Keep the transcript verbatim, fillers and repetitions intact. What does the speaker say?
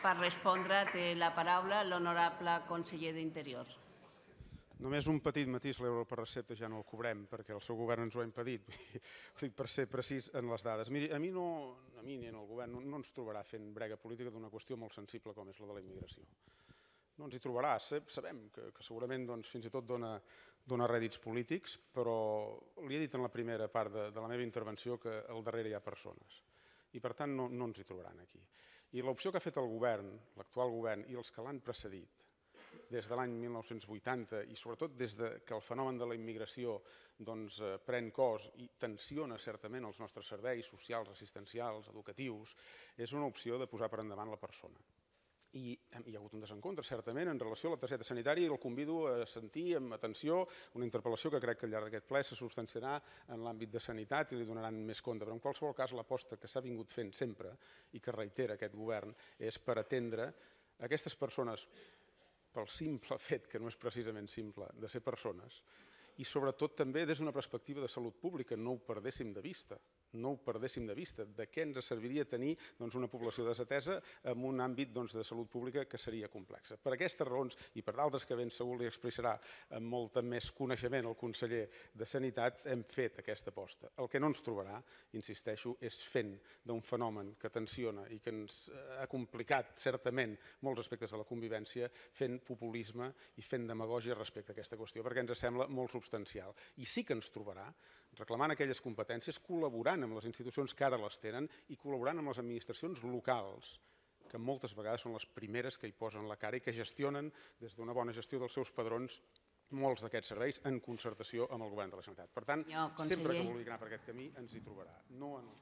Per respondre té la paraula l'honorable conseller d'Interior. Només un petit matís, l'euro per recepta ja no el cobrem perquè el seu govern ens ho ha impedit, per ser precís en les dades. Miri, a mi no, a mi ni en el govern no ens trobarà fent brega política d'una qüestió molt sensible com és la de la immigració. No ens hi trobarà, sabem que segurament fins i tot dona rèdits polítics, però li he dit en la primera part de la meva intervenció que al darrere hi ha persones i per tant no ens hi trobaran aquí. I l'opció que ha fet el govern, l'actual govern i els que l'han precedit, des de l'any mil nou-cents vuitanta i sobretot des que el fenomen de la immigració pren cos i tensiona certament els nostres serveis socials, assistencials, educatius, és una opció de posar per endavant la persona. I hi ha hagut un desencontre, certament, en relació a la targeta sanitària i el convido a sentir amb atenció una interpel·lació que crec que al llarg d'aquest ple se substanciarà en l'àmbit de sanitat i li donaran més compte. Però en qualsevol cas l'aposta que s'ha vingut fent sempre i que reitera aquest govern és per atendre aquestes persones pel simple fet, que no és precisament simple, de ser persones, i sobretot també des d'una perspectiva de salut pública, no ho perdéssim de vista, no ho perdéssim de vista, de què ens serviria tenir una població desatesa en un àmbit de salut pública que seria complexa. Per aquestes raons i per d'altres que ben segur li expressarà amb molt més coneixement el conseller de Sanitat, hem fet aquesta aposta. El que no ens trobarà, insisteixo, és fent d'un fenomen que tensiona i que ens ha complicat certament molts aspectes de la convivència, fent populisme i fent demagògia respecte a aquesta qüestió, perquè ens sembla molt substancial. I sí que ens trobarà reclamant aquelles competències, col·laborant amb les institucions que ara les tenen i col·laborant amb les administracions locals, que moltes vegades són les primeres que hi posen la cara i que gestionen des d'una bona gestió dels seus padrons molts d'aquests serveis en concertació amb el govern de la Generalitat. Per tant, sempre que vulgui anar per aquest camí ens hi trobarà. No en el